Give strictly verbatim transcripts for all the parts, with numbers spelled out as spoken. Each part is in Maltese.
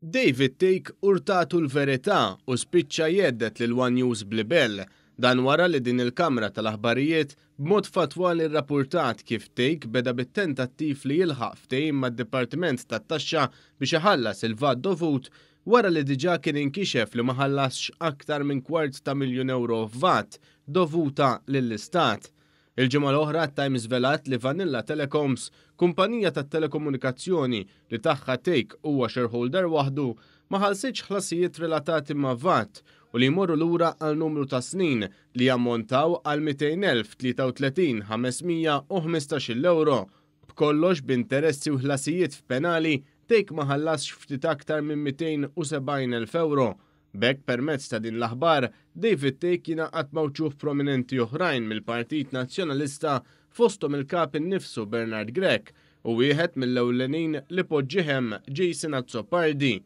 David Thake urtatu l-verità u spiċċa jhedded lil One News b'libell. Dan wara li din il-kamra tal-aħbarijiet b'mod fatwali rrapportat kif Thake beda bit-tentattiv li jilħaq ftehim mad-Dipartiment tat-Taxxa biex iħallas il-VAT dovut wara li diġà kien inkixef li ma ħallasx aktar minn kwart ta' miljun euro VAT dovuta lill-Istat. Il-ġimgħa l-oħra Times żvelat li Vanilla Telecoms, kumpanija tat telekomunikazzjoni li tagħha Thake huwa shareholder waħdu, ma ħallsitx ħlasijiet relatati ma' VAT u li jmorru lura għal numru ta' snin li jammontaw għal mitejn elf tlieta u tletin ħames mija u ħmistax-il euro. B'kollox, b'interessi u ħlasijiet f'penali, Thake ma ħallasx ftit aktar minn mitejn u sebgħin elf euro. B'hekk, permezz ta' din l-aħbar, David Thake jingħaqad ma' wċuħ prominenti oħrajn mill-Partit Nazzjonalista, fosthom il-kap innifsu Bernard Grech u wieħed mill-ewlenin li poġġieh hemm, Jason Azzopardi.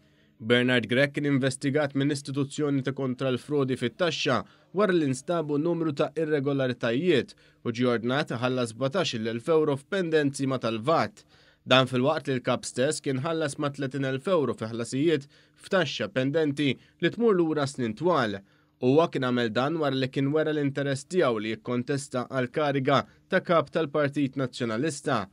Bernard Grech kien investigat minn istituzzjoni ta' kontra l-frodi fit-taxxa wara li nstabu numru ta' irregolaritajiet u ġi ordnat ħallas sbatax-il elf euro f'pendenzi ma' tal-VAT. Dan filwaqt li l-kap stess kien ħallas ma' tletin elf euro fi ħlasijiet f'taxxa pendenti li tmur lura snin twal. Huwa kien għamel dan wara li kien wera l-interess tiegħu li jikkontesta għal kariga ta' kap tal-Partit Nazzjonalista.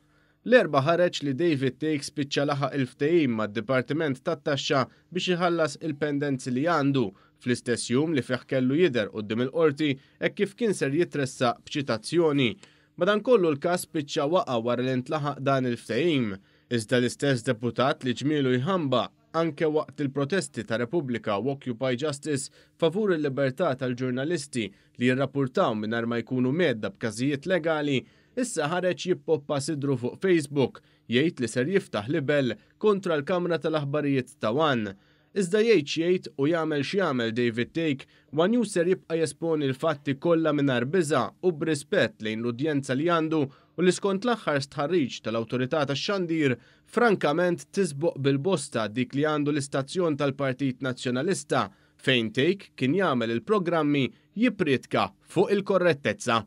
L-Erbgħa ħareġ li David Thake spiċċa laħaq il-ftehim mad-Dipartiment tat-Taxxa biex iħallas il-pendenzi li għandu fl-istess jum li fih kellu jidher quddiem il-qorti e kif kien ser jitressaq b'ċitazzjoni. Madankollu, l-każ spiċċa waqa' wara li ntlaħaq dan il-ftehim. Iżda l-istess deputat li ġmielu jħambaq anke waqt il-protesti ta' Repubblika u Occupy Justice favur il-libertà tal-ġurnalisti li jirrapportaw mingħajr ma jkunu mhedda b'każijiet legali, issa ħareġ jippoppa sidru fuq Facebook jgħid li ser jiftaħ libel kontra l-Kamra tal-Aħbarijiet ta' One. Iżda jgħid x'jgħid u jagħmel x'jagħmel David Thake, One News ser jibqa' jesponi l-fatti kollha mingħajr biża' u b'rispett lejn l-udjenza li għandu u li, skont l-aħħar stħarriġ tal-Awtorità tax-Xandir, frankament tisboq bil-bosta dik li għandu l-istazzjon tal-Partit Nazzjonalista fejn Thake kien jagħmel il-programmi jippriedka fuq il-korrettezza.